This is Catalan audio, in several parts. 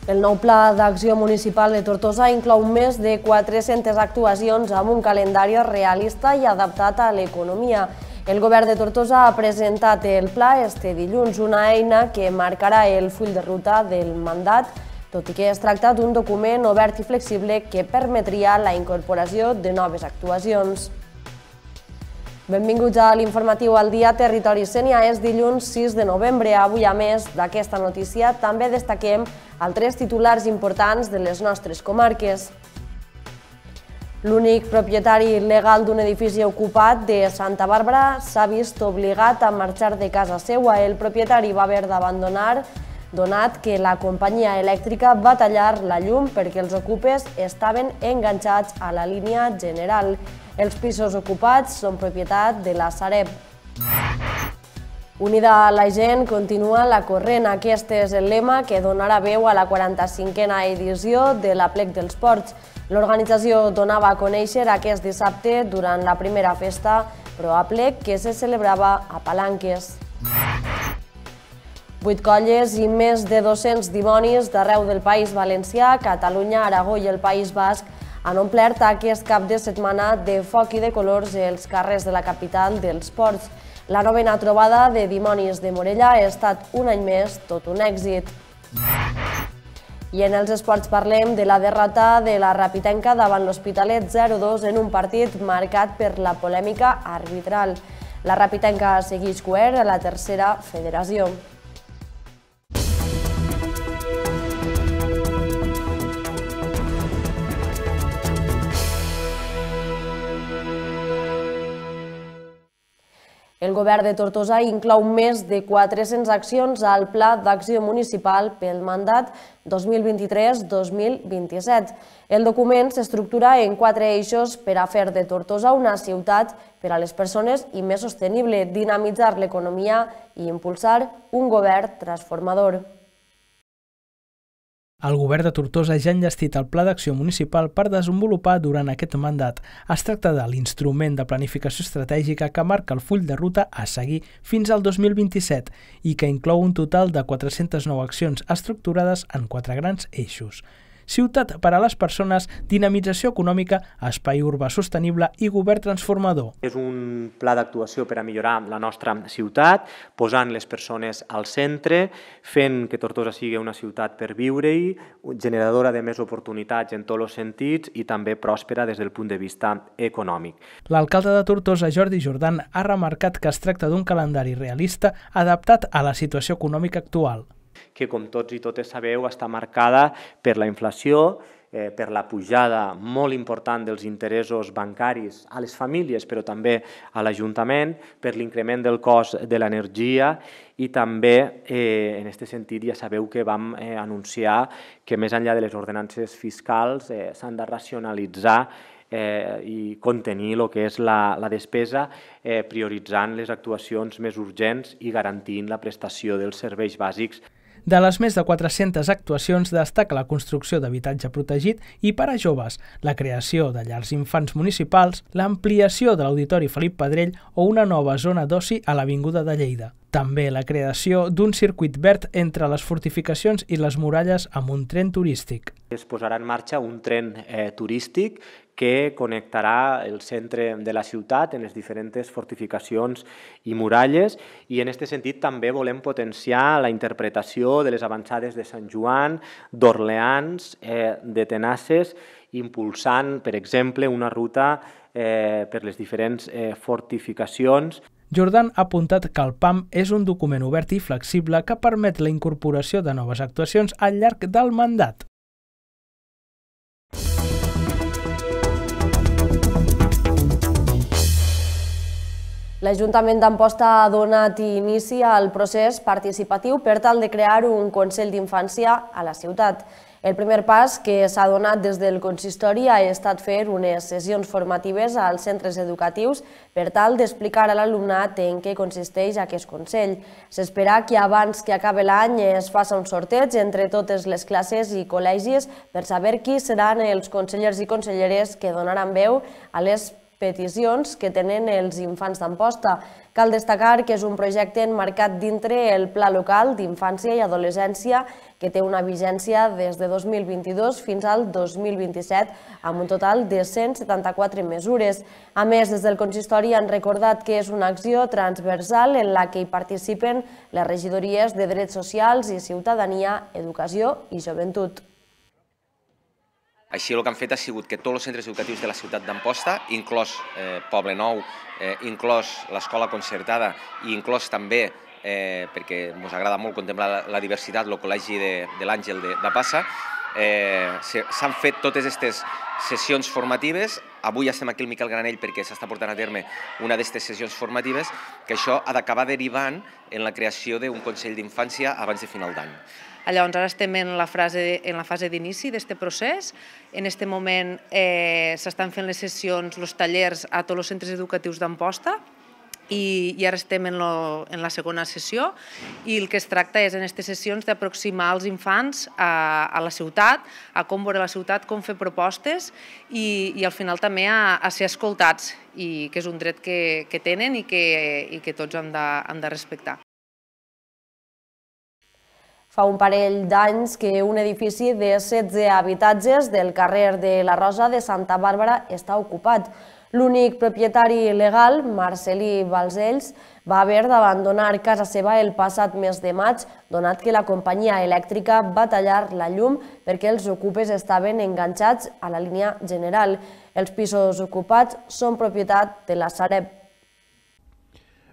El nou Pla d'Acció Municipal de Tortosa inclou més de 400 actuacions amb un calendari realista i adaptat a l'economia. El govern de Tortosa ha presentat el pla este dilluns, una eina que marcarà el full de ruta del mandat, tot i que es tracta d'un document obert i flexible que permetria la incorporació de noves actuacions. Benvinguts a l'informatiu al dia Territori Sénia. És dilluns 6 de novembre. Avui, a més d'aquesta notícia, també destaquem altres titulars importants de les nostres comarques. L'únic propietari legal d'un edifici ocupat de Santa Bàrbara s'ha vist obligat a marxar de casa seva. El propietari va haver d'abandonar, donat que la companyia elèctrica va tallar la llum perquè els ocupes estaven enganxats a la línia general. Els pisos ocupats són propietat de la Sareb. Unida a la gent continua la corrent. Aquest és el lema que donarà veu a la 45a edició de l'Aplec dels Ports. L'organització donava a conèixer aquest dissabte durant la primera festa ProAplec que se celebrava a Palanques. 8 colles i més de 200 dimonis d'arreu del País Valencià, Catalunya, Aragó i el País Basc han omplert aquest cap de setmana de foc i de colors els carrers de la capital dels ports. La novena trobada de dimonis de Morella ha estat un any més tot un èxit. I en els esports parlem de la derrota de la Rapitenca davant l'Hospitalet 0-2 en un partit marcat per la polèmica arbitral. La Rapitenca segueix cuer a la tercera federació. El govern de Tortosa inclou més de 400 accions al Pla d'Acció Municipal pel mandat 2023-2027. El document s'estructura en 4 eixos per a fer de Tortosa una ciutat per a les persones i més sostenible, dinamitzar l'economia i impulsar un govern transformador. El govern de Tortosa ja ha enllestit el Pla d'Acció Municipal per desenvolupar durant aquest mandat. Es tracta de l'instrument de planificació estratègica que marca el full de ruta a seguir fins al 2027 i que inclou un total de 409 accions estructurades en 4 grans eixos. Ciutat per a les persones, dinamització econòmica, espai urbà sostenible i govern transformador. És un pla d'actuació per a millorar la nostra ciutat, posant les persones al centre, fent que Tortosa sigui una ciutat per viure-hi, generadora de més oportunitats en tots els sentits i també pròspera des del punt de vista econòmic. L'alcalde de Tortosa, Jordi Jordan, ha remarcat que es tracta d'un calendari realista adaptat a la situació econòmica actual, que, com tots i totes sabeu, està marcada per la inflació, per la pujada molt important dels interessos bancaris a les famílies, però també a l'Ajuntament, per l'increment del cost de l'energia i també, en aquest sentit, ja sabeu que vam anunciar que més enllà de les ordenances fiscals s'han de racionalitzar i contenir el que és la despesa, prioritzant les actuacions més urgents i garantint la prestació dels serveis bàsics. De les més de 400 actuacions destaca la construcció d'habitatge protegit i per a joves, la creació de llars infants municipals, l'ampliació de l'Auditori Felip Pedrell o una nova zona d'oci a l'Avinguda de Lleida. També la creació d'un circuit verd entre les fortificacions i les muralles amb un tren turístic. Es posarà en marxa un tren turístic que connectarà el centre de la ciutat en les diferents fortificacions i muralles i en aquest sentit també volem potenciar la interpretació de les avançades de Sant Joan, d'Orleans, de Tenasses, impulsant, per exemple, una ruta per les diferents fortificacions. Jordan ha apuntat que el PAM és un document obert i flexible que permet la incorporació de noves actuacions al llarg del mandat. L'Ajuntament d'Amposta ha donat inici al procés participatiu per tal de crear un Consell d'Infància a la ciutat. El primer pas que s'ha donat des del consistori ha estat fer unes sessions formatives als centres educatius per tal d'explicar a l'alumnat en què consisteix aquest Consell. S'espera que abans que acabi l'any es faci un sorteig entre totes les classes i col·legis per saber qui seran els consellers i conselleres que donaran veu a les peticions que tenen els infants d'Amposta. Cal destacar que és un projecte enmarcat dintre el Pla Local d'Infància i Adolescència que té una vigència des de 2022 fins al 2027 amb un total de 174 mesures. A més, des del consistori han recordat que és una acció transversal en la que hi participen les regidories de Drets Socials i Ciutadania, Educació i Joventut. Així el que han fet ha sigut que tots els centres educatius de la ciutat d'Amposta, inclòs Poblenou, inclòs l'escola concertada i inclòs també, perquè ens agrada molt contemplar la diversitat, el col·legi de l'Àngel de Passa, s'han fet totes aquestes sessions formatives. Avui estem aquí al Miquel Granell perquè s'està portant a terme una d'aquestes sessions formatives, que això ha d'acabar derivant en la creació d'un Consell d'Infància abans de final d'any. Llavors, ara estem en la fase d'inici d'aquest procés. En aquest moment s'estan fent les sessions, els tallers a tots els centres educatius d'Amposta i ara estem en la segona sessió i el que es tracta és en aquestes sessions d'aproximar els infants a la ciutat, a com veure la ciutat, com fer propostes i al final també a ser escoltats, que és un dret que tenen i que tots hem de respectar. Fa un parell d'anys que un edifici de 16 habitatges del carrer de la Rosa de Santa Bàrbara està ocupat. L'únic propietari legal, Marcelí Balcells, va haver d'abandonar casa seva el passat mes de maig, donat que la companyia elèctrica va tallar la llum perquè els ocupes estaven enganxats a la línia general. Els pisos ocupats són propietat de la Sareb.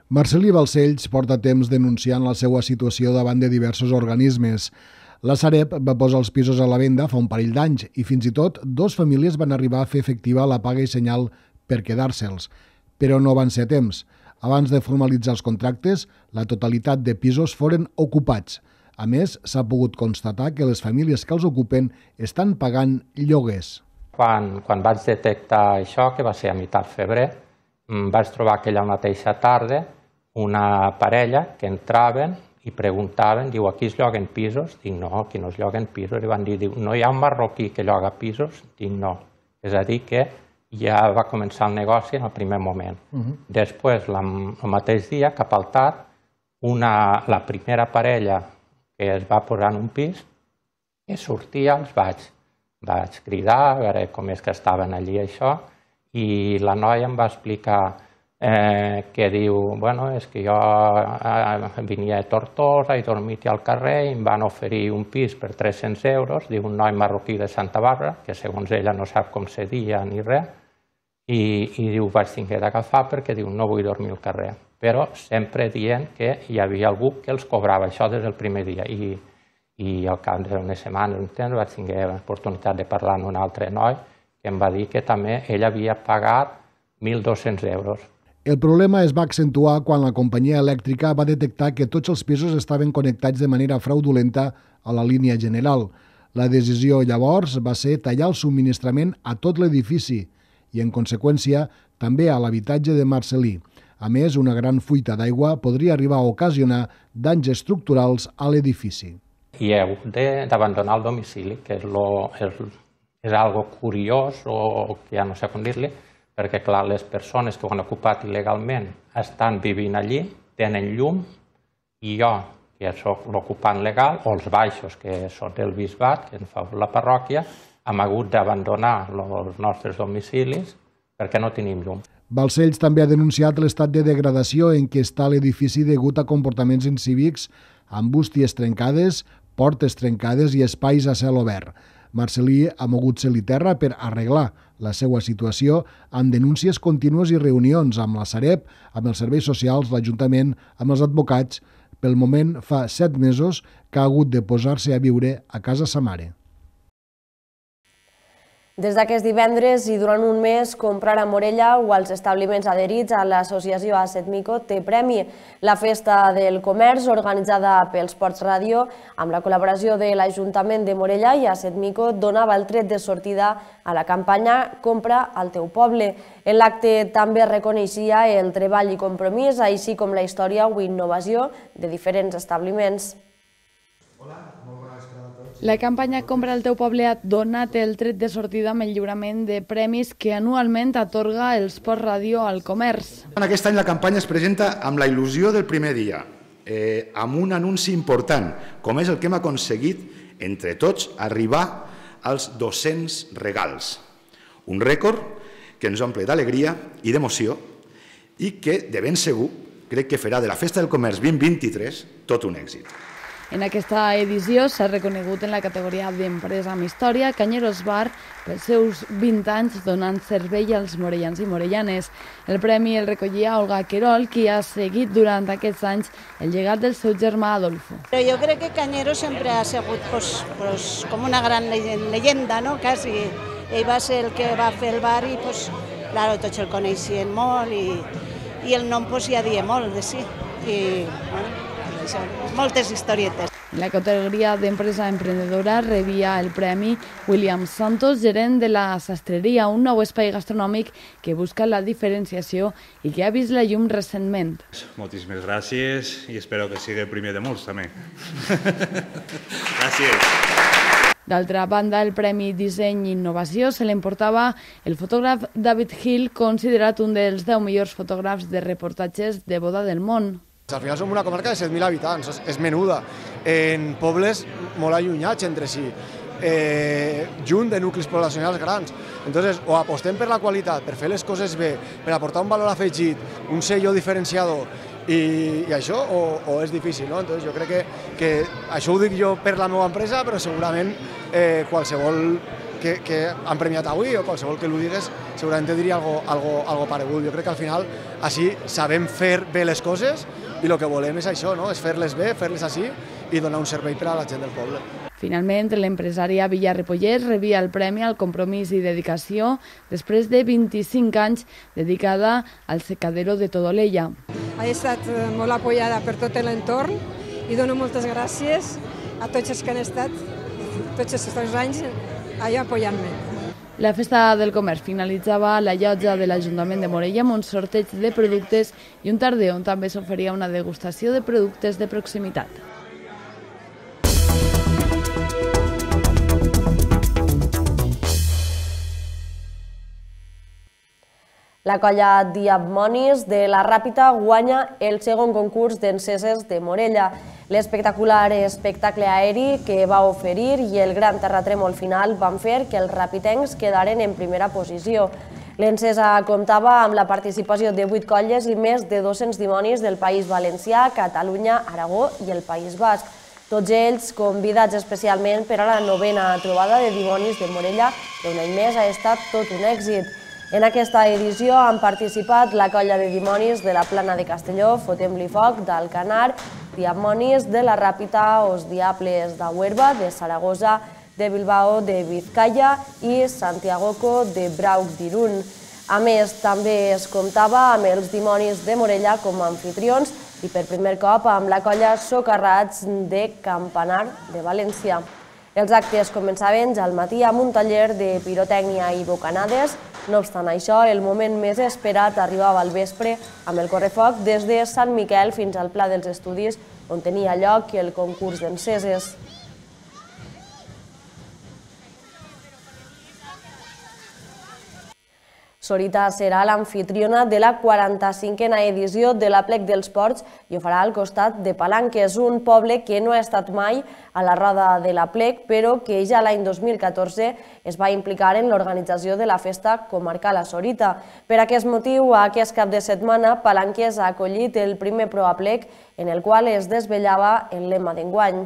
Marcelí Balcells porta temps denunciant la seva situació davant de diversos organismes. La Sareb va posar els pisos a la venda fa un parell d'anys i fins i tot dues famílies van arribar a fer efectiva la paga i senyal per quedar-se'ls, però no van ser a temps. Abans de formalitzar els contractes, la totalitat de pisos foren ocupats. A més, s'ha pogut constatar que les famílies que els ocupen estan pagant lloguers. Quan vaig detectar això, que va ser a meitat febrer, vaig trobar aquella mateixa tarda una parella que entraven i preguntaven, diu, aquí es lloguen pisos? Dic, no, aquí no es lloguen pisos. I van dir, no hi ha un marroquí que lloga pisos? Dic, no. És a dir, que ja va començar el negoci en el primer moment. Després, el mateix dia, cap al tard, la primera parella que es va posar en un pis, que sortia, els vaig cridar, a veure com és que estaven allí, això, i la noia em va explicar que diu, bueno, és que jo venia de Tortosa, he dormit al carrer i em van oferir un pis per 300 euros, diu un noi marroquí de Santa Bàrbara, que segons ella no sap com se dia ni res, i diu, vaig haver d'agafar perquè diu, no vull dormir al carrer. Però sempre dient que hi havia algú que els cobrava, això des del primer dia. I al cap d'unes setmanes, un temps, vaig tenir l'oportunitat de parlar amb un altre noi que em va dir que també ell havia pagat 1.200 euros. El problema es va accentuar quan la companyia elèctrica va detectar que tots els pisos estaven connectats de manera fraudulenta a la línia general. La decisió llavors va ser tallar el subministrament a tot l'edifici i, en conseqüència, també a l'habitatge de Marcelí. A més, una gran fuita d'aigua podria arribar a ocasionar danys estructurals a l'edifici. I heu d'abandonar el domicili, que és algo curiós o que ja no sé com dir-li, perquè, clar, les persones que ho han ocupat il·legalment estan vivint allí, tenen llum, i jo, que soc l'ocupant legal, o els baixos, que són del bisbat, que en fa la parròquia, hem hagut d'abandonar els nostres domicilis perquè no tenim llum. Balcells també ha denunciat l'estat de degradació en què està l'edifici degut a comportaments incívics, amb bústies trencades, portes trencades i espais a cel obert. Marcelí ha mogut cel i terra per arreglar la seva situació amb denúncies contínues i reunions amb la Sareb, amb els serveis socials, l'Ajuntament, amb els advocats. Pel moment, fa 7 mesos que ha hagut de posar-se a viure a casa sa mare. Des d'aquest divendres i durant un mes, comprar a Morella o als establiments adherits a l'associació ASETMICO té premi. La Festa del Comerç, organitzada pels Ports Ràdio, amb la col·laboració de l'Ajuntament de Morella i ASETMICO, donava el tret de sortida a la campanya Compra al teu poble. En l'acte també reconeixia el treball i compromís, així com la història o innovació de diferents establiments. Hola, molt bona vesprada a tots. La campanya Compra el teu poble ha donat el tret de sortida amb el lliurament de premis que anualment atorga el Sport Ràdio al comerç. Aquest any la campanya es presenta amb la il·lusió del primer dia, amb un anunci important, com és el que hem aconseguit entre tots arribar als 200 regals. Un rècord que ens omple d'alegria i d'emoció i que, de ben segur, crec que farà de la Festa del Comerç 2023 tot un èxit. En aquesta edició s'ha reconegut en la categoria d'empresa amb història Cañeros Bar pels seus 20 anys donant servei als morellans i morellanes. El premi el recollia Olga Querol, qui ha seguit durant aquests anys el llegat del seu germà Adolfo. Però jo crec que Cañeros sempre ha sigut com una gran leyenda, ¿no? Quasi. Ell va ser el que va fer el bar i claro, tots el coneixien molt i el nom ja dia molt de sí. I moltes historietes. En la categoria d'empresa emprendedora rebia el premi William Santos, gerent de la Sastreria, un nou espai gastronòmic que busca la diferenciació i que ha vist la llum recentment. Moltíssimes gràcies i espero que sigui el primer de molts també. Gràcies. D'altra banda, el Premi Disseny i Innovació se l'emportava el fotògraf David Hill, considerat un dels 10 millors fotògrafs de reportatges de boda del món. Al final som una comarca de 7.000 habitants, és menuda, en pobles molt allunyats entre si, junt de nuclis poblacionals grans. Entonces, o apostem per la qualitat, per fer les coses bé, per aportar un valor afegit, un sello diferenciador, i això o és difícil, no? Entonces, jo crec que això ho dic jo per la meva empresa, però segurament qualsevol que han premiat avui o qualsevol que l'ho digués segurament te diria algo paregut. Jo crec que al final així sabem fer bé les coses i el que volem és això, no? És fer-les bé, fer-les així i donar un servei per a la gent del poble. Finalment, l'empresària Villa Repollers rebia el premi al compromís i dedicació després de 25 anys dedicada al secadero de Todolella. Ha estat molt apoyada per tot l'entorn i dono moltes gràcies a tots els que han estat tots aquests anys allà apoyant-me. La Festa del Comerç finalitzava a la llotja de l'Ajuntament de Morella amb un sorteig de productes i un tarder on també s'oferia una degustació de productes de proximitat. La colla Diamonis de la Ràpita guanya el segon concurs d'enceses de Morella. L'espectacular espectacle aeri que va oferir i el gran terratrèmol final van fer que els rapitencs quedaren en primera posició. L'encesa comptava amb la participació de 8 colles i més de 200 dimonis del País Valencià, Catalunya, Aragó i el País Basc. Tots ells convidats especialment per a la 9a trobada de dimonis de Morella, que un any més ha estat tot un èxit. En aquesta edició han participat la colla de dimonis de la Plana de Castelló, Fotem-li Foc, d'Alcanar, Diamonis de la Ràpita, Os Diables de Huerva, de Saragossa, de Bilbao, de Vizcaya i Santiagoco de Brauc d'Irún. A més, també es comptava amb els dimonis de Morella com a anfitrions i per primer cop amb la colla Socarrats de Campanar de València. Els actes començaven ja al matí amb un taller de pirotècnia i bocanades. No obstant això, el moment més esperat arribava al vespre amb el correfoc des de Sant Miquel fins al Pla dels Estudis, on tenia lloc el concurs d'enceses. Sorita serà l'amfitriona de la 45a edició de l'Aplec dels Ports i ho farà al costat de Palanques, un poble que no ha estat mai a la roda de l'Aplec, però que ja l'any 2014 es va implicar en l'organització de la festa comarcal a Sorita. Per aquest motiu, aquest cap de setmana, Palanques ha acollit el primer ProAplec, en el qual es desvetllava el lema d'enguany.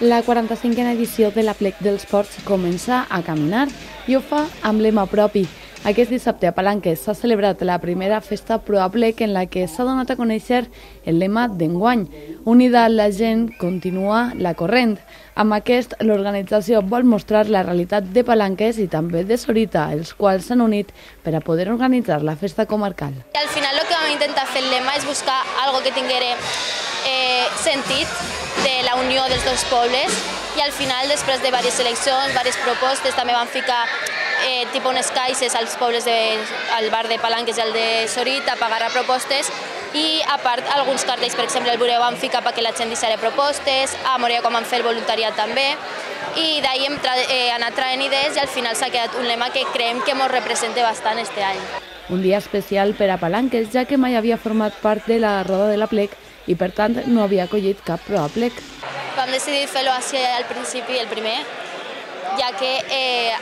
La 45a edició de l'Aplec dels Ports comença a caminar i ho fa amb lema propi. Aquest dissabte a Palanques s'ha celebrat la primera festa ProAplec en la que s'ha donat a conèixer el lema d'enguany. Unida la gent continua la corrent. Amb aquest, l'organització vol mostrar la realitat de Palanques i també de Sorita, els quals s'han unit per a poder organitzar la festa comarcal. Al final el que vam intentar fer el lema és buscar algo que tinguera sentit de la unió dels dos pobles i al final, després de diverses eleccions, diverses propostes, també van ficar tipus unes caixes als pobles al bar de Palanques i al de Sorit a pagar a propostes i a part alguns cartells, per exemple el Bureu vam ficar perquè la gent deixara propostes, a Moria com vam fer el voluntariat també i d'ahir hem anat traient idees i al final s'ha quedat un lema que creiem que ens representa bastant este any. Un dia especial per a Palanques, ja que mai havia format part de la roda de l'Aplec i per tant no havia acollit cap ProAplec. Vam decidir fer-lo al principi, el primer, ja que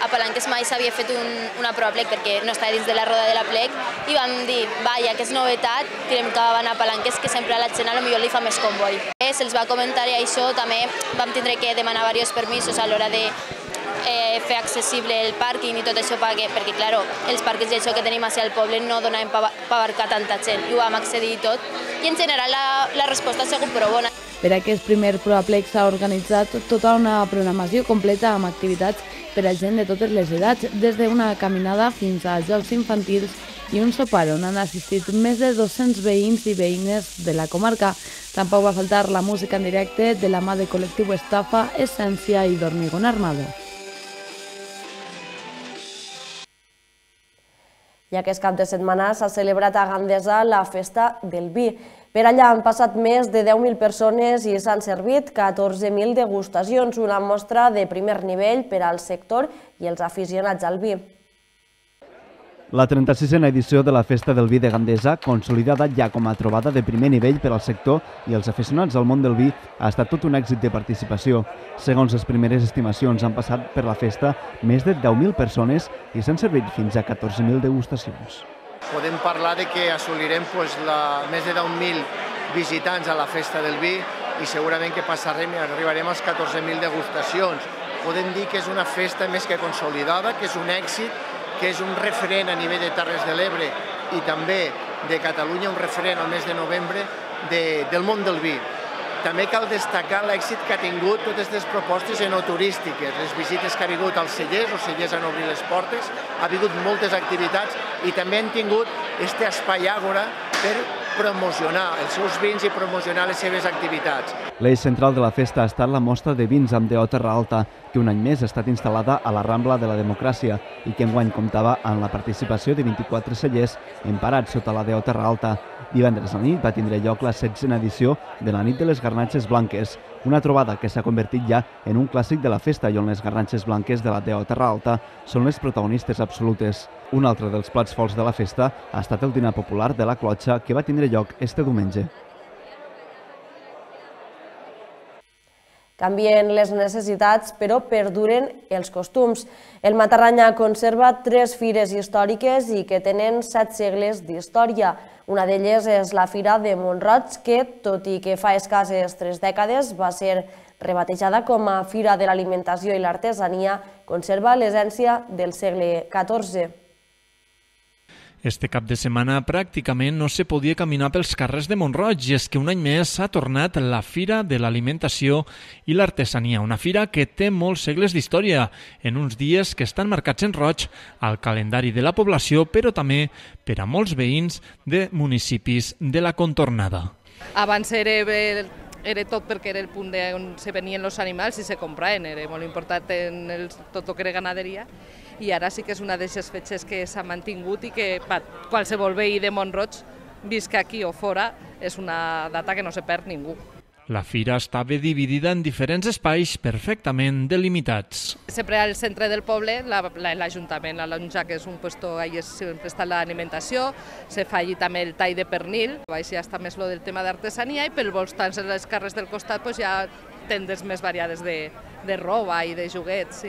a Palanques mai s'havia fet una ProAplec perquè no estava dins de la roda de l'Aplec i vam dir, ja que és novetat, tirem cap a Palanques, que sempre a la gent potser li fa més comboi. Se'ls va comentar i això també vam tindre que demanar diversos permisos a l'hora de fer accessible el pàrquing i tot això perquè, clar, els pàrquings i això que tenim al poble no donaven per abarcar tanta gent i ho vam accedir tot i en general la resposta ha sigut prou bona. Per aquest primer ProAplec s'ha organitzat tota una programació completa amb activitats per a gent de totes les edats, des d'una caminada fins a jocs infantils i un sopar on han assistit més de 200 veïns i veïnes de la comarca. Tampoc va faltar la música en directe de la mà de col·lectiu Estafa, Essència i d'Hormigón Armado. I aquest cap de setmana s'ha celebrat a Gandesa la Festa del Vi. Per allà han passat més de 10.000 persones i s'han servit 14.000 degustacions, una mostra de primer nivell per al sector i els aficionats al vi. La 36a edició de la Festa del Vi de Gandesa, consolidada ja com a trobada de primer nivell per al sector i els aficionats al món del vi, ha estat tot un èxit de participació. Segons les primeres estimacions, han passat per la festa més de 10.000 persones i s'han servit fins a 14.000 degustacions. Podem parlar de que assolirem més de 10.000 visitants a la Festa del Vi i segurament que passarem i arribarem als 14.000 degustacions. Podem dir que és una festa més que consolidada, que és un èxit, que és un referent a nivell de Terres de l'Ebre i també de Catalunya, un referent al mes de novembre del món del vi. També cal destacar l'èxit que ha tingut totes aquestes propostes enoturístiques, les visites que ha hagut als cellers, els cellers han obrit les portes, ha hagut moltes activitats i també han tingut aquest espai àgora per promocionar els seus vins i promocionar les seves activitats. L'eix central de la festa ha estat la mostra de vins amb DO Terra Alta, que un any més ha estat instal·lada a la Rambla de la Democràcia i que enguany comptava amb la participació de 24 cellers emparats sota la DO Terra Alta. Divendres a la nit va tindre lloc la 16a edició de la Nit de les Garnatxes Blanques, una trobada que s'ha convertit ja en un clàssic de la festa i on les garnatxes blanques de la DO Terra Alta són les protagonistes absolutes. Un altre dels plats forts de la festa ha estat el dinar popular de la Clotxa, que va tindre lloc este diumenge. Canvien les necessitats, però perduren els costums. El Matarranya conserva 3 fires històriques i que tenen 7 segles d'història. Una d'elles és la Fira de Mont-roig, que, tot i que fa escasses 3 dècades va ser rebatejada com a Fira de l'Alimentació i l'Artesania, conserva l'essència del segle XIV. Este cap de setmana pràcticament no se podia caminar pels carrers de Mont-roig i és que un any més s'ha tornat la Fira de l'Alimentació i l'Artesania, una fira que té molts segles d'història, en uns dies que estan marcats en roig al calendari de la població, però també per a molts veïns de municipis de la contornada. Abans era tot perquè era el punt on se venien els animals i se compraven, era molt important en tot el que era ganaderia, i ara sí que és una d'aquestes fetges que s'ha mantingut i que qualsevol veí de Mont-roig, visca aquí o fora, és una data que no se perd ningú. La fira estava dividida en diferents espais perfectament delimitats. Sempre al centre del poble, l'Ajuntament, la Lonja, que és un lloc on sempre està l'alimentació, se fa allí també el tall de pernil, així ja està més lo del tema d'artesania, i pel voltant de les carrers del costat ja tendes més variades de roba i de joguets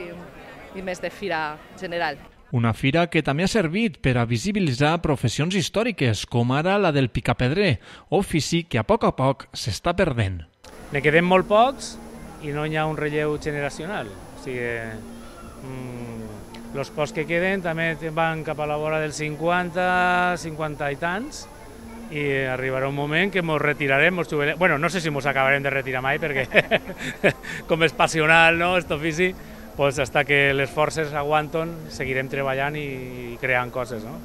i més de fira general. Una fira que també ha servit per a visibilitzar professions històriques, com ara la del picapedrer, ofici que a poc s'està perdent. Ne quedem molt pocs i no hi ha un relleu generacional. O sigui, els pocs que queden també van cap a la vora dels 50 i tants, i arribarà un moment que ens retirarem, ens jubilarem. Bueno, no sé si ens acabarem de retirar mai, perquè com és passional, no?, aquest ofici, pues hasta que les forces aguanten, seguirem treballant i creant coses, no?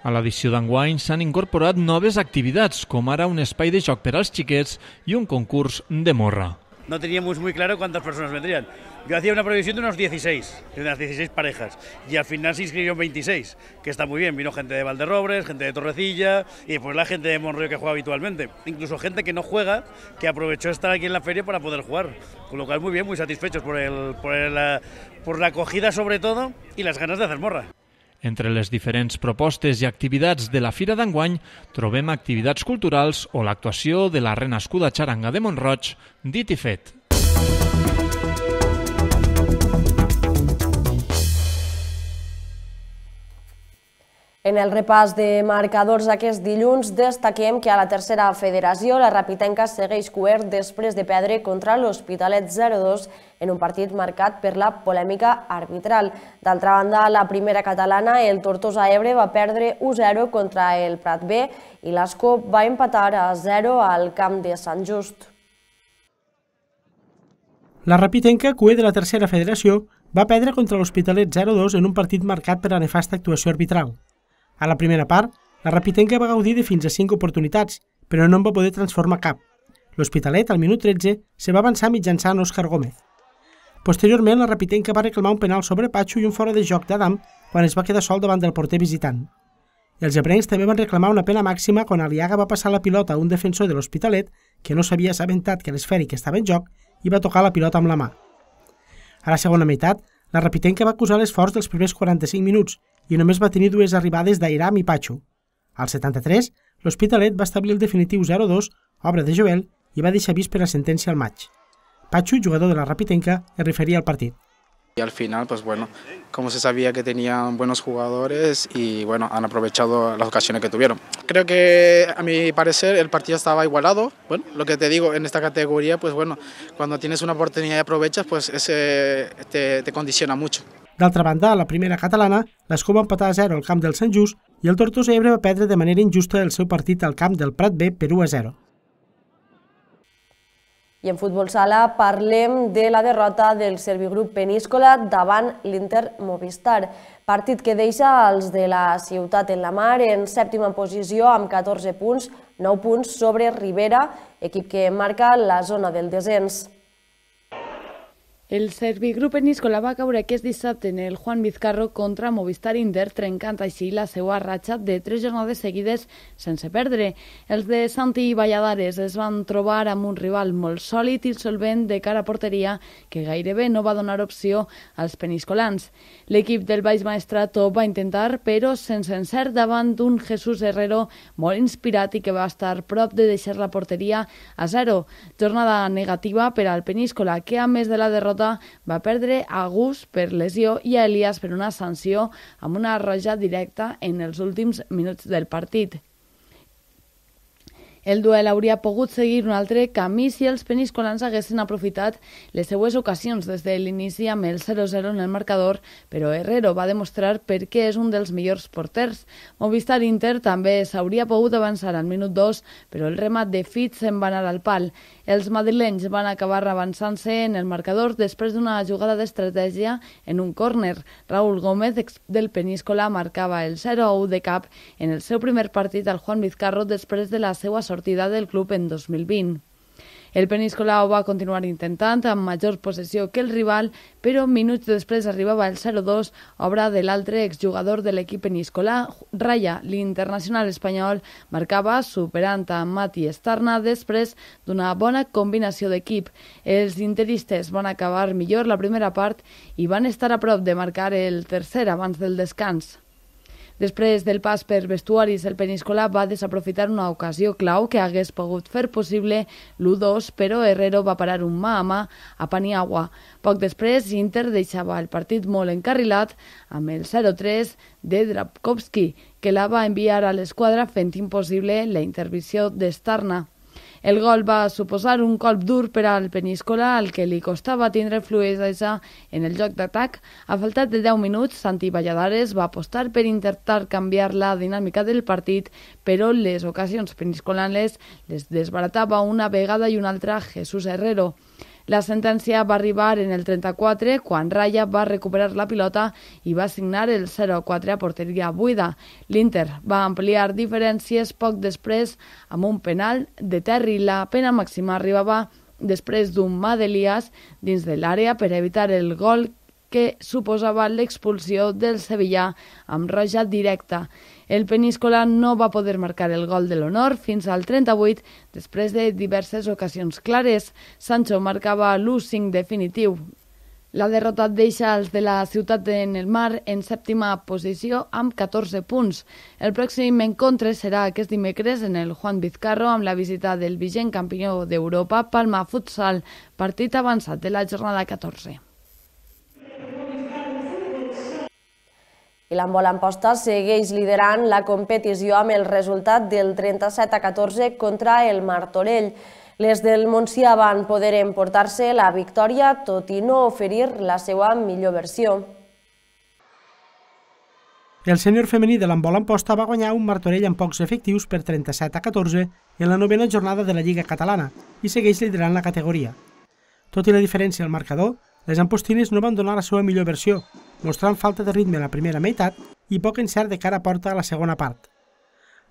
A l'edició d'enguany s'han incorporat noves activitats, com ara un espai de joc per als xiquets i un concurs de morra. no teníamos muy claro cuántas personas vendrían. Yo hacía una previsión de unos 16, de unas 16 parejas, y al final se inscribieron 26, que está muy bien. Vino gente de Valderrobres, gente de Torrecilla, y después la gente de Monroyo que juega habitualmente. Incluso gente que no juega, que aprovechó estar aquí en la feria para poder jugar. Con lo cual muy bien, muy satisfechos por la acogida sobre todo, y las ganas de hacer morra. Entre les diferents propostes i activitats de la Fira d'enguany trobem activitats culturals o l'actuació de la renascuda xaranga de Mont-roig, dit i fet. En el repàs de marcadors aquest dilluns destaquem que a la tercera federació la Rapitenca segueix coert després de perdre contra l'Hospitalet 0-2 en un partit marcat per la polèmica arbitral. D'altra banda, a la primera catalana, el Tortosa Ebre va perdre 1-0 contra el Prat B i l'Ascó va empatar a 0 al camp de Sant Just. La Rapitenca, cuer de la tercera federació, va perdre contra l'Hospitalet 0-2 en un partit marcat per la nefasta actuació arbitral. A la primera part, la Rapitenca va gaudir de fins a 5 oportunitats, però no en va poder transformar cap. L'Hospitalet, al minut 13, se va avançar mitjançant Òscar Gómez. Posteriorment, la Rapitenca va reclamar un penal sobre Patxo i un fora de joc d'Adam quan es va quedar sol davant del porter visitant. Els ebrencs també van reclamar una pena màxima quan Aliaga va passar la pilota a un defensor de l'Hospitalet que no s'havia assabentat que l'esfèric estava en joc i va tocar la pilota amb la mà. A la segona meitat, la Rapitenca va acusar l'esforç dels primers 45 minuts i només va tenir 2 arribades d'Airam i Patxo. Al 73, l'Hospitalet va establir el definitiu 0-2, obra de Joel, i va deixar vist per la sentència al maig. Patxo, jugador de la Rapitenca, es referia al partit. Y al final, pues bueno, como se sabía que tenían buenos jugadores y bueno, han aprovechado las ocasiones que tuvieron. Creo que a mi parecer el partido estaba igualado. Bueno, lo que te digo, en esta categoría, pues bueno, cuando tienes una oportunidad y aprovechas, pues te condiciona mucho. D'altra banda, a la primera catalana, l'Escó va empatar a 0 al camp del Sant Just i el Tortosa Ebre va perdre de manera injusta el seu partit al camp del Prat B per 1-0. I en futbol sala parlem de la derrota del Servigrup Peníscola davant l'Inter Movistar, partit que deixa els de la Ciutat en la Mar en 7ª posició amb 14 punts, 9 punts sobre Ribera, equip que marca la zona del descens. El Servigrup Peníscola va caure aquest dissabte en el Juan Vizcarro contra Movistar Inter, trencant així la seva ratxa de 3 jornades seguides sense perdre. Els de Santi Valladares es van trobar amb un rival molt sòlid i solvent de cara a porteria que gairebé no va donar opció als peniscolans. L'equip del Baix Maestrat ho va intentar, però sense encert davant d'un Jesús Herrero molt inspirat i que va estar prop de deixar la porteria a 0. Jornada negativa per al Peníscola, que a més de la derrota va perdre a Gus per lesió i a Elias per una sanció amb una roja directa en els últims minuts del partit. El duel hauria pogut seguir un altre camí si els peniscolans haguessin aprofitat les seues ocasions des de l'inici amb el 0-0 en el marcador, però Herrero va demostrar per què és un dels millors porters. Movistar Inter també s'hauria pogut avançar al minut 2, però el remat de Fitz se'n va anar al pal. Els madrilenys van acabar avançant-se en el marcador després d'una jugada d'estratègia en un córner. Raúl Gómez, del Peníscola, marcava el 0-1 de cap en el seu primer partit al Juan Vizcarro després de la seva sortida del club en 2020. El Peníscola ho va continuar intentant amb major possessió que el rival, però minuts després arribava el 0-2, obra de l'altre exjugador de l'equip peníscola. Raya, l'internacional espanyol, marcava superant a Mati Estarna després d'una bona combinació d'equip. Els interistes van acabar millor la primera part i van estar a prop de marcar el tercer abans del descans. Després del pas per vestuaris, el Peníscola va desaprofitar una ocasió clau que hagués pogut fer possible l'1-2, però Herrero va parar un mà a mà a Paniagua. Poc després, Inter deixava el partit molt encarrilat amb el 0-3 de Drabkovski, que la va enviar a l'esquadra fent impossible la intervenció d'Estarna. El gol va suposar un colp dur per al Peníscola, al que li costava tindre fluïdesa en el joc d'atac. A faltat de 10 minuts, Santi Valladares va apostar per intentar canviar la dinàmica del partit, però les ocasions peniscolanes les desbaratava una vegada i una altra Jesús Herrero. La sentència va arribar en el 34, quan Raya va recuperar la pilota i va signar el 0-4 a porteria buida. L'Inter va ampliar diferències poc després amb un penal de Terry. La pena màxima arribava després d'un mà d'Elias dins de l'àrea per evitar el gol que suposava l'expulsió del Sevillà amb roja directa. El peníscola no va poder marcar el gol de l'honor fins al 38 després de diverses ocasions clares. Sancho marcava l'1-5 definitiu. La derrota deixa els de la Ciutat en el Mar en 7ª posició amb 14 punts. El pròxim encontre serà aquest dimecres en el Juan Vizcarro amb la visita del vigent campió d'Europa Palma Futsal, partit avançat de la jornada 14. I l'handbol Amposta segueix liderant la competició amb el resultat del 37-14 contra el Martorell. Les del Montsià van poder emportar-se la victòria, tot i no oferir la seva millor versió. El sènior femení de l'handbol Amposta va guanyar un Martorell amb pocs efectius per 37-14 en la 9ª jornada de la Lliga Catalana i segueix liderant la categoria. Tot i la diferència al marcador, les ampostines no van donar la seva millor versió, mostrant falta de ritme a la primera meitat i poc encert de cara a porta a la segona part.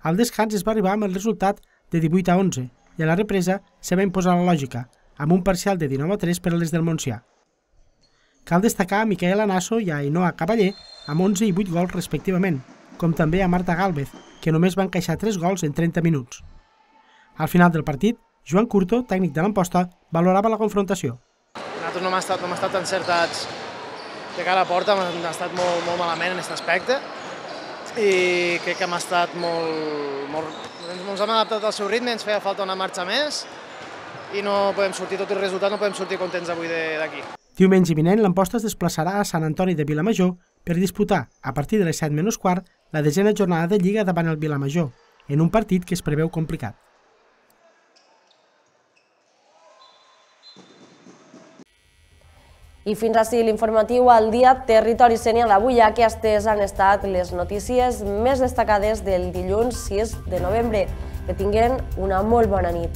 Al descans es va arribar amb el resultat de 18-11 i a la represa se va imposar la lògica, amb un parcial de 19-3 per a les del Montsià. Cal destacar a Micaela Nasso i a Ainhoa Cavaller amb 11 i 8 gols respectivament, com també a Marta Gálvez, que només va encaixar 3 gols en 30 minuts. Al final del partit, Joan Curto, tècnic de l'Amposta, valorava la confrontació. Nosaltres no hem estat encertats de cara a porta, hem estat molt malament en aquest aspecte i crec que hem estat ens hem adaptat al seu ritme, ens feia falta una marxa més i no podem sortir, tot el resultat no podem sortir contents avui d'aquí. Diumenge vinent l'Amposta es desplaçarà a Sant Antoni de Vilamajor per disputar, a partir de les 7:15, la 10ª jornada de Lliga davant el Vilamajor, en un partit que es preveu complicat. I fins ací l'informatiu al dia Territori Sénia d'avui. Aquestes han estat les notícies més destacades del dilluns 6 de novembre. Que tinguin una molt bona nit.